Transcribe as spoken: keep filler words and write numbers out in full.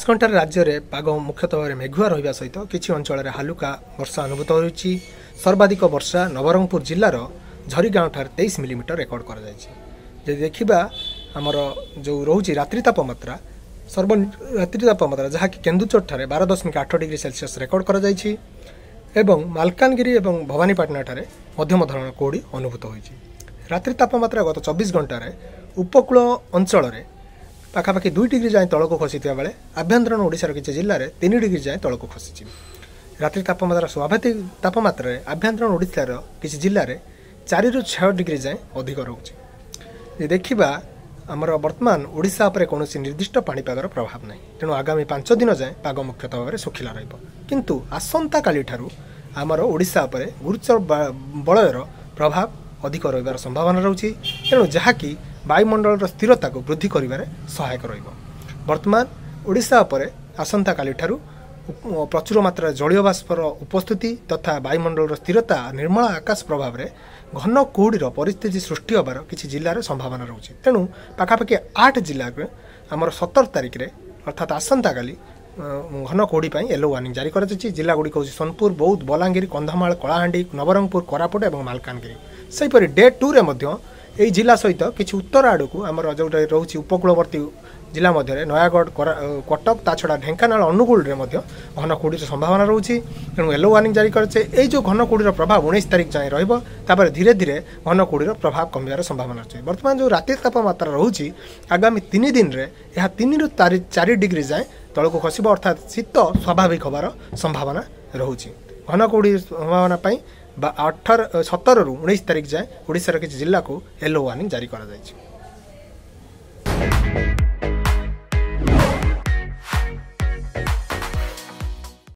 ଘଣ୍ଟାରେ ରାଜ୍ୟରେ ପାଗ ମୁଖ୍ୟତଃ ଭାବରେ ମେଘୁଆ ରହିବା ସହିତ କିଛି ଅଞ୍ଚଳରେ ହାଲୁକା ବର୍ଷା ଅନୁଭୂତ ହୋଇଛି। ସର୍ବାଧିକ ବର୍ଷା ନବରଙ୍ଗପୁର ଜିଲ୍ଲାର ଝରିଗାଁଠାରେ ତେଇଶ ମିଲିମିଟର ରେକର୍ଡ କରାଯାଇଛି। ଯଦି ଦେଖିବା ଆମର ଯେଉଁ ରହୁଛି ରାତ୍ରି ତାପମାତ୍ରା, ସର୍ବ ରାତ୍ରି ତାପମାତ୍ରା ଯାହାକି କେନ୍ଦୁଝରଠାରେ ବାର ଦଶମିକ ଆଠ ଡିଗ୍ରୀ ସେଲସିୟସ୍ ରେକର୍ଡ କରାଯାଇଛି ଏବଂ ମାଲକାନଗିରି ଏବଂ ଭବାନୀପାଟଣାଠାରେ ମଧ୍ୟମ ଧରଣର କୁହୁଡ଼ି ଅନୁଭୂତ ହୋଇଛି। ରାତ୍ରି ତାପମାତ୍ରା ଗତ ଚବିଶ ଘଣ୍ଟାରେ ଉପକୂଳ ଅଞ୍ଚଳରେ ପାଖାପାଖି ଦୁଇ ଡିଗ୍ରୀ ଯାଏଁ ତଳକୁ ଖସିଥିବା ବେଳେ ଆଭ୍ୟନ୍ତରୀଣ ଓଡ଼ିଶାର କିଛି ଜିଲ୍ଲାରେ ତିନି ଡିଗ୍ରୀ ଯାଏଁ ତଳକୁ ଖସିଛି। ରାତ୍ରି ତାପମାତ୍ରା ସ୍ୱାଭାବିକ ତାପମାତ୍ରାରେ ଆଭ୍ୟନ୍ତରୀଣ ଓଡ଼ିଶାର କିଛି ଜିଲ୍ଲାରେ ଚାରିରୁ ଛଅ ଡିଗ୍ରୀ ଯାଏଁ ଅଧିକ ରହୁଛି। ଯଦି ଦେଖିବା ଆମର ବର୍ତ୍ତମାନ ଓଡ଼ିଶା ଉପରେ କୌଣସି ନିର୍ଦ୍ଦିଷ୍ଟ ପାଣିପାଗର ପ୍ରଭାବ ନାହିଁ, ତେଣୁ ଆଗାମୀ ପାଞ୍ଚ ଦିନ ଯାଏଁ ପାଗ ମୁଖ୍ୟତଃ ଭାବରେ ଶୁଖିଲା ରହିବ। କିନ୍ତୁ ଆସନ୍ତାକାଲିଠାରୁ ଆମର ଓଡ଼ିଶା ଉପରେ ଗୁରୁଚର ବଳୟର ପ୍ରଭାବ ଅଧିକ ରହିବାର ସମ୍ଭାବନା ରହୁଛି, ତେଣୁ ଯାହାକି ବାୟୁମଣ୍ଡଳର ସ୍ଥିରତାକୁ ବୃଦ୍ଧି କରିବାରେ ସହାୟକ ରହିବ। ବର୍ତ୍ତମାନ ଓଡ଼ିଶା ଉପରେ ଆସନ୍ତାକାଲିଠାରୁ ପ୍ରଚୁର ମାତ୍ରାରେ ଜଳୀୟ ବାଷ୍ପର ଉପସ୍ଥିତି ତଥା ବାୟୁମଣ୍ଡଳର ସ୍ଥିରତା, ନିର୍ମଳ ଆକାଶ ପ୍ରଭାବରେ ଘନ କୁହୁଡ଼ିର ପରିସ୍ଥିତି ସୃଷ୍ଟି ହେବାର କିଛି ଜିଲ୍ଲାରେ ସମ୍ଭାବନା ରହୁଛି। ତେଣୁ ପାଖାପାଖି ଆଠ ଜିଲ୍ଲାରେ ଆମର ସତର ତାରିଖରେ ଅର୍ଥାତ୍ ଆସନ୍ତାକାଲି ଘନ କୁହୁଡ଼ି ପାଇଁ ୟେଲୋ ୱାର୍ଣ୍ଣିଂ ଜାରି କରାଯାଇଛି। ଜିଲ୍ଲାଗୁଡ଼ିକ ହେଉଛି ସୋନପୁର, ବୌଦ୍ଧ, ବଲାଙ୍ଗୀର, କନ୍ଧମାଳ, କଳାହାଣ୍ଡି, ନବରଙ୍ଗପୁର, କୋରାପୁଟ ଏବଂ ମାଲକାନଗିରି। ସେହିପରି ଡେ ଟୁରେ ମଧ୍ୟ ଏହି ଜିଲ୍ଲା ସହିତ କିଛି ଉତ୍ତର ଆଡ଼କୁ ଆମର ଯେଉଁଟା ରହୁଛି ଉପକୂଳବର୍ତ୍ତୀ ଜିଲ୍ଲା ମଧ୍ୟରେ ନୟାଗଡ଼, କଟକ, ତା ଛଡ଼ା ଢେଙ୍କାନାଳ, ଅନୁଗୁଳରେ ମଧ୍ୟ ଘନ କୁହୁଡ଼ିର ସମ୍ଭାବନା ରହୁଛି। ତେଣୁ ୟେଲୋ ୱାର୍ଣ୍ଣିଂ ଜାରି କରିছে। ଏଇ ଯେଉଁ ଘନ କୁହୁଡ଼ିର ପ୍ରଭାବ ଉଣେଇଶ ତାରିଖ ଯାଏଁ ରହିବ, ତାପରେ ଧୀରେ ଧୀରେ ଘନ କୁହୁଡ଼ିର ପ୍ରଭାବ କମିବାର ସମ୍ଭାବନା ଅଛି। ବର୍ତ୍ତମାନ ଯେଉଁ ରାତି ତାପମାତ୍ରା ରହୁଛି ଆଗାମୀ ତିନି ଦିନରେ ଏହା ତିନିରୁ ଚାରି ଡିଗ୍ରୀ ଯାଏଁ ତଳକୁ ଖସିବ, ଅର୍ଥାତ୍ ଶୀତ ସ୍ୱାଭାବିକ ହେବାର ସମ୍ଭାବନା ରହୁଛି। ଘନ କୁହୁଡ଼ି ସମ୍ଭାବନା ପାଇଁ ବା ଅଠର ସତରରୁ ଉଣେଇଶ ତାରିଖ ଯାଏଁ ଓଡ଼ିଶାର କିଛି ଜିଲ୍ଲାକୁ ୟେଲୋ ୱାର୍ଣ୍ଣିଂ ଜାରି କରାଯାଇଛି।